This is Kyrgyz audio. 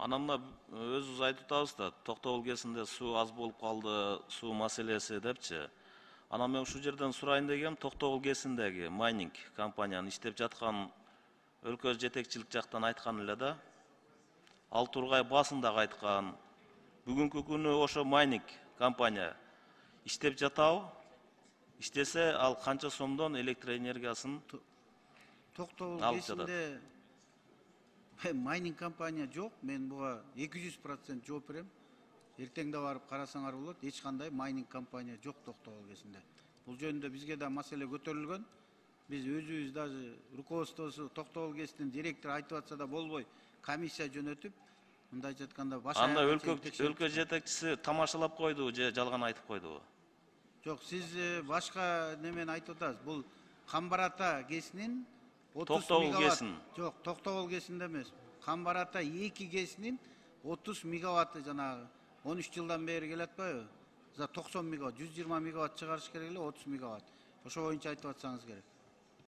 Анан мына өзүбүз айтып атабыз да, Токтогул КЭСинде суу аз болуп калды, суу маселеси депчи. Анан мен ушул жерден сурайын дегем, Токтогул КЭСиндеги майнинг компаниянын иштеп жаткан өлкө жетекчилик жактан айткан эле да. Ал Тургай басын дагы айткан. Бүгүнкү күнү ошо майнинг компания иштеп жатабы? Иштесе, ал канча сомдон электр энергиясын Токтогул алып жатат? КЭСинде майнинг компания жок. Мен буга 200% жооп берем. Эртең да барып карасаңар болот. Эч кандай майнинг компания жок Токтогул КЭСинде. Бул жөнүндө бизге да маселе көтөрүлгөн. Биз өзүбүз даже руководствосу Токтогул КЭСинин директору айтып атса да болбой, комиссия жөнөтүп, мындайча айтканда анда өлкө жетекчиси тамашалап койду же жалган айтып койдубу? Жок, сиз башка немени айтып атасыз. Бул Камбар Ата КЭСинин 30 Токтогул мегаватт. КЭСин. Жок, Токтогул КЭСинде эмес. Камбар Ата 2 КЭСинин 30 мегаватты жанагы 13 жылдан бери келе атпайбы? За 90 мегаватт, 120 мегаватт чыгарыш керек эле, 30 мегаватт. Ошо боюнча айтып атсаңыз керек.